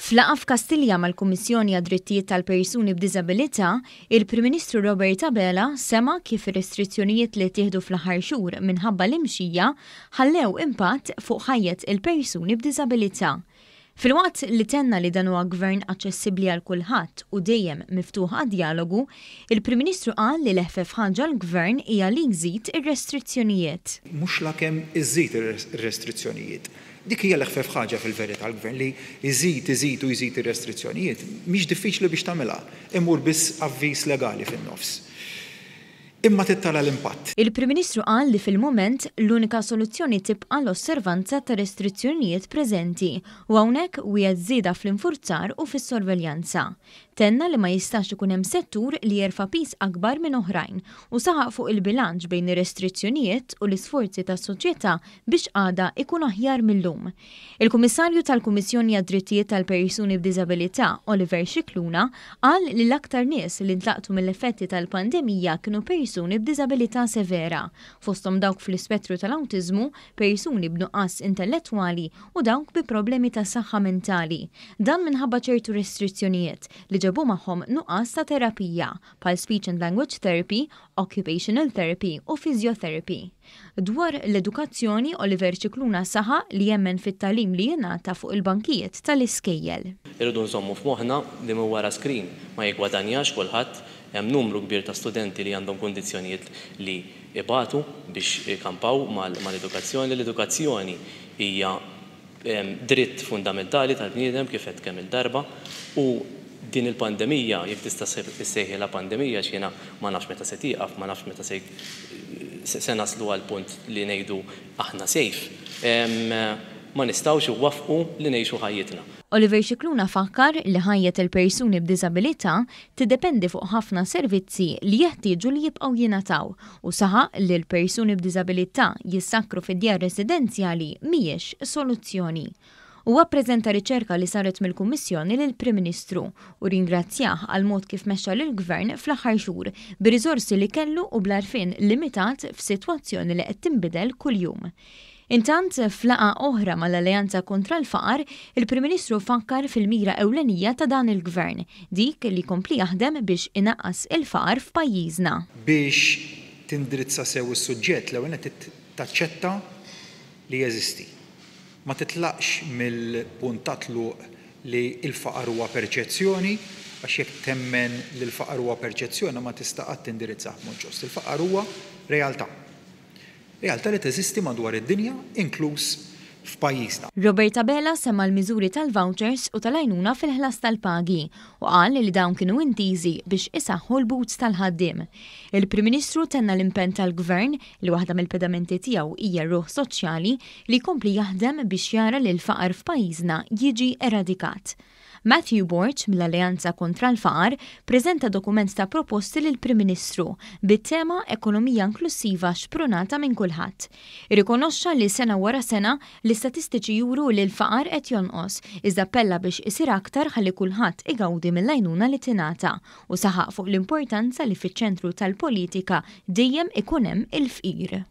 F'laqgħa f'Kastilja mal-Kummissjoni għad-Drittijiet tal-Persuni b'Diżabilità, il-Prim Ministru Robert Abela sema' kif ir-restrizzjonijiet li ttieħdu fl-aħħar xhur minħabba l-imxija ħallew impatt fuq ħajjet il-persuni b'diżabilità. Filwaqt li tenna li dan huwa Gvern aċċessibbli għal kulħadd u dejjem miftuħ għad-djalogu, il-Prim Ministru qal li l-eħfef ħaġa għall-Gvern hija li jżid ir-restrizzjonijiet. Mhux lakemm iżżid ir-restrizzjonijiet. Dik hija l-eħfef ħaġa fil-verità l-Gvern li jżid, iżid u jżid ir-restrizzjonijiet. Mhix diffiċli biex tagħmilha. Imur biss avviż legali fin-nofs. Imma trid tara l-impatt. Il-Prim Ministru qal li fil-mument, l-unika soluzzjoni tibqa' l-osservanza tar-restrizzjonijiet preżenti u hawnhekk wiegħed żieda fl-infurzar u fis-sorveljanza. Tenna li ma jistax ikun hemm settur li jerfa' piż akbar minn oħrajn u saħaq fuq il-bilanċ bejn ir-restrizzjonijiet u l-isforzi tas-soċjetà biex għada ikun aħjar mil-lum. Il-Kummissarju tal-Kummissjoni għad-Drittijiet tal-Persuni b'Diżabilità, Oliver Scicluna, qal li l-aktar nies li ntlaqtu mill-effetti tal-pandemija kienu persuni b'diżabilità severa, fosthom dawk fl-ispettru tal-awtiżmu, persuni b'nuqqas intellettwali u dawk bi problemi ta' saħħa mentali. Dan minħabba ċertu restrizzjonijiet li ġabu magħhom nuqqas ta' terapija, bħal speech and language therapy, occupational therapy u physiotherapy. Dwar l-edukazzjoni, Oliver Scicluna saħaq li jemmen fit-tagħlim li jingħata fuq il-bankijiet tal-iskejjel. Irridu nżommu f'moħħna li minn wara screen ma jiggwadanjax kulħadd, hemm numru kbir ta' studenti li għandhom kundizzjonijiet li ibatu biex ikampaw mal-edukazzjoni. L-edukazzjoni hija dritt fundamentali tal-bniedem kif għedt kemm-il darba u din il-pandemija, jekk tista' ssejħilha pandemija għax jiena ma nafx meta se tieqaf, ma nafx meta se se naslu għal punt li ngħidu aħna safe, ma nistgħux iwaffqu li ngħixu ħajjitna. Oliver Scicluna fakkar li ħajjet il-persuni b'diżabilità tiddependi fuq ħafna servizzi li jeħtieġu li jibqgħu jingħataw u saħaq li l-persuni b'diżabilità jissakkru fid-djar residenzjali mhijiex soluzzjoni. Huwa ppreżenta riċerka li saret mill-Kummissjoni lill-Prim Ministru u ringrazzjah għall-mod kif mexxa lill-Gvern fl-aħħar xhur bir-riżorsi li kellu u bl-għarfien limitat f'sitwazzjoni li qed tinbidel kuljum. Intant, f'laqgħa oħra mal-Alleanza Kontra l-Faqar, il-Prim Ministru fakkar fil-mira ewlenija ta' dan il-Gvern, dik li jkompli jaħdem biex inaqqas il-faqar f'pajjiżna. Biex tindirizza sew is-suġġett, l-ewwel nett trid taċċetta li jeżisti. Ma titlaqx mill-punt ta' tluq li l-faqar huwa perċezzjoni, għax jekk temmen li l-faqar huwa perċezzjoni ma tista' qatt tindirizzah b'mod ġust. Il-faqar huwa realtà. Realtà li teżisti madwar id-dinja, inkluż f'pajjiżna. Robert Abela semma l-miżuri tal-vouchers u tal-għajnuna fil-ħlas tal-pagi u qal li dawn kienu intiżi biex isaħħu l-but tal-ħaddiem. Il-Prim Ministru tenna l-impenn tal-Gvern, li waħda mill-pedamenti tiegħu hija r-ruħ soċjali, li jkompli jaħdem biex jara li l-faqar f'pajjiżna jiġi eradikat. Matthew Borg, mill-Alleanza Kontra l-Faqar, preżenta dokument ta' proposti lill-Prim Ministru, bit-tema Ekonomija Inklussiva Xprunata minn Kulħadd. Irrikonoxxa li sena wara sena, l-istatistiċi juru li l-faqar qed jonqos, iżda appella biex isir aktar ħalli kulħadd igawdi mill-għajnuna li tingħata u saħaq fuq l-importanza li fiċ-ċentru tal-politika dejjem ikun hemm il-fqir.